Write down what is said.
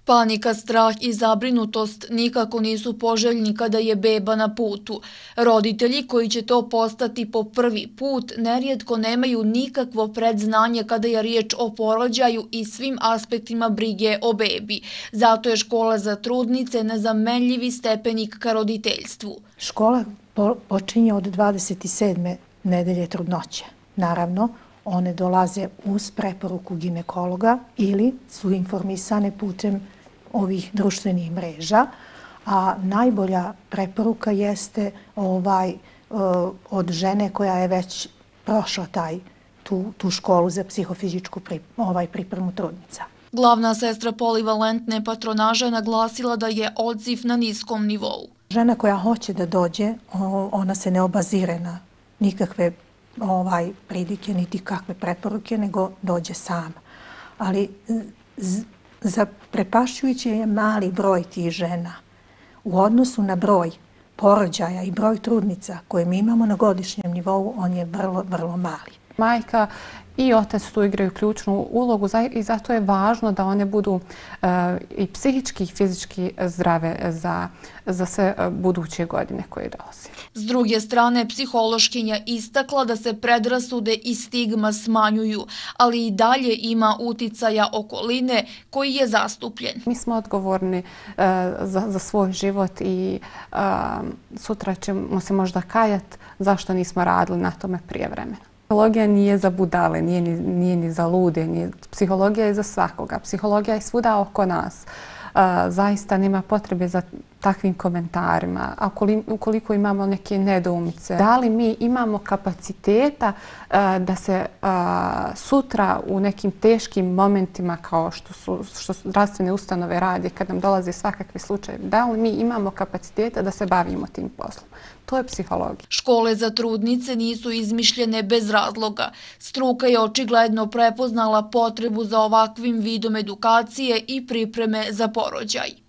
Panika, strah i zabrinutost nikako nisu poželjni kada je beba na putu. Roditelji koji će to postati po prvi put nerijetko nemaju nikakvo predznanje kada je riječ o porođaju i svim aspektima brige o bebi. Zato je škola za trudnice nezamenljivi stepenik ka roditeljstvu. Škola počinje od 27. nedelje trudnoće. Naravno, one dolaze uz preporuku ginekologa ili su informisane putem ovih društvenih mreža, a najbolja preporuka jeste od žene koja je već prošla tu školu za psihofizičku pripremu trudnica. Glavna sestra polivalentne patronaže naglasila da je odziv na niskom nivou. Žena koja hoće da dođe, ona se ne obazire na nikakve pridike, niti kakve preporuke, nego dođe sama. Ali zaprepašćujući je mali broj tih žena u odnosu na broj porođaja i broj trudnica koje mi imamo na godišnjem nivou, on je vrlo, vrlo mali. Majka i otac tu igraju ključnu ulogu i zato je važno da one budu i psihički i fizički zdrave za sve buduće godine koje dolaze. S druge strane, psihološkinja istakla da se predrasude i stigma smanjuju, ali i dalje ima uticaja okoline koji je zastupljen. Mi smo odgovorni za svoj život i sutra ćemo se možda kajati zašto nismo radili na tome prije vremena. Psihologija nije za budale, nije ni za lude, psihologija je za svakoga. Psihologija je svuda oko nas. Zaista nema potrebe za takvim komentarima. A ukoliko imamo neke nedoumice, da li mi imamo kapaciteta da se sutra u nekim teškim momentima kao što zdravstvene ustanove rade kad nam dolaze svakakvi slučajevi, da li mi imamo kapaciteta da se bavimo tim poslom? To je psihologija. Škole za trudnice nisu izmišljene bez razloga. Struka je očigledno prepoznala potrebu za ovakvim vidom edukacije i pripreme za porođaj.